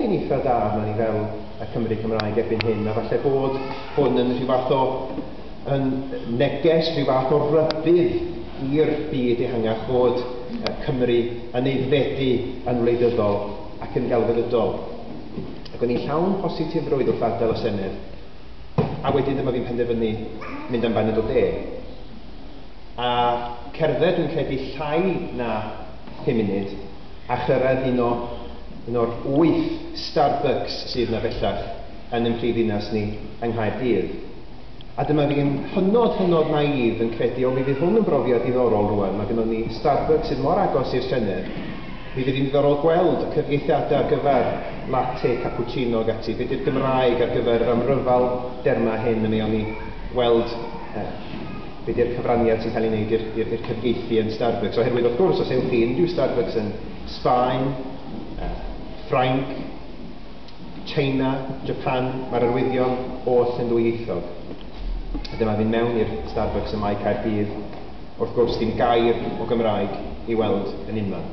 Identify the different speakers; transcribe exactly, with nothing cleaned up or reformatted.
Speaker 1: Yn eitha da arnon ni fel y Cymry Cymraeg erbyn hyn, a falle bod hwn yn rhyw fath o yn neges, rhyw fath o rybudd i'r byd ehangach fod Cymru yn aeddfedu yn wleidyddol ac yn gelfyddydol. Ac o'n i'n llawn positifrwydd wrth adael y Senedd, a wedyn dyma fi'n penderfynu mynd am baned o de. A cerdded, dwi'n credu, llai na pum munud, a chyrraedd un o un o'r wyth Starbucks sydd yna bellach yn ein prifddinas ni yng Nghaerdydd. A dyma fi'n hynod, hynod naif yn credu, o, mi fydd hwn yn brofiad diddorol rwan, mae gennym ni Starbucks sydd mor agos i'r Senedd, mi fydd hi'n ddiddorol gweld y cyfieithiadau ar gyfer latte, cappuccino ac ati, be di'r Gymraeg ar gyfer yr amryfal derma hyn, a mi o'n i weld eh, be di'r cyfraniad sy'n cael ei wneud i'r cyfieithu yn Starbucks. Oherwydd, wrth gwrs, os ewch chi unrhyw Starbucks yn Sbaen, eh, Ffrainc, China, Japan, mae'r arwyddion oll yn ddwyieithog. A dyma fi'n mewn i'r Starbucks ym Mae Caerdydd, wrth gwrs dim gair o Gymraeg i weld yn unman.